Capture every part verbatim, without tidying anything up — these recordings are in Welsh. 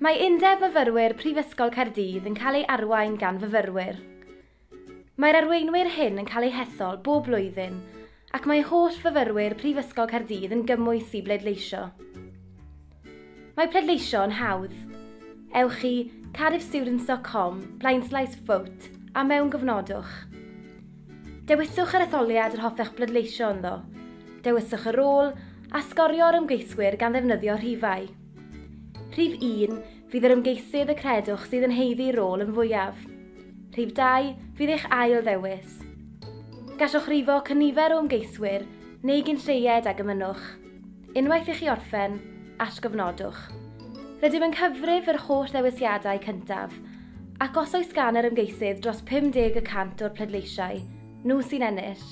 Mae Undeb Myfyrwyr Prifysgol Caerdydd yn cael ei arwain gan fyfyrwyr. Mae'r arweinwyr hyn yn cael eu hethol bob blwyddyn ac mae holl fyfyrwyr Prifysgol Caerdydd yn gymwys i bleidleisio. Mae pleidleisio yn hawdd. Ewch i cardiffstudents dot com blaenslaes vote a mewngofnodwch. Dewiswch yr etholiad yr hoffech bleidleisio ynddo. Dewiswch y rôl a sgorio'r ymgeiswyr gan ddefnyddio rhifau. Rhif un fydd yr ymgeisydd y credwch sydd yn haeddu rôl yn fwyaf. Rhif dau fydd eich ail ddewis. Gallwch rifo cynifer o ymgeiswyr neu gyn lleied ag ymynwch. Unwaith i chi orffen, atgofnodwch. Rydym yn cyfrif yr holl ddewisiadau cyntaf, ac os oes gan yr ymgeisydd dros pum deg y cant o'r pleidleisiau, nhw sy'n ennill.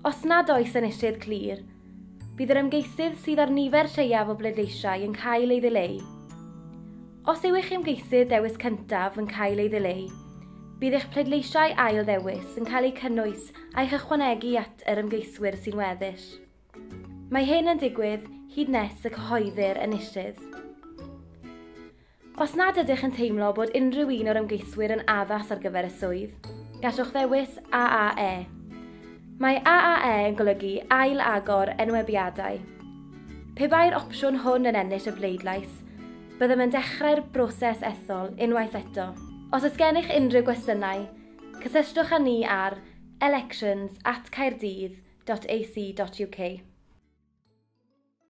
Os nad oes enillydd clir, bydd yr ymgeisydd sydd â'r nifer lleiaf o bleidleisiau yn cael ei ddileu. Os yw eich ymgeisydd dewis cyntaf yn cael ei ddileu, bydd eich pleidleisiau ail ddewis yn cael eu cynnwys a'u hychwanegu at yr ymgeiswyr sy'n weddill. Mae hyn yn digwydd hyd nes y cyhoeddir enillydd. Os nad ydych yn teimlo bod unrhyw un o'r ymgeiswyr yn addas ar gyfer y swydd, gallwch ddewis A A E. Mae A A E yn golygu ail agor enwebiadau. Pe bai'r opsiwn hwn yn ennill y bleidlais, byddem yn dechrau'r broses ethol unwaith eto. Os oes gennych unrhyw gwestiynau, cysylltwch â ni ar elections at caerdydd dot A C dot U K.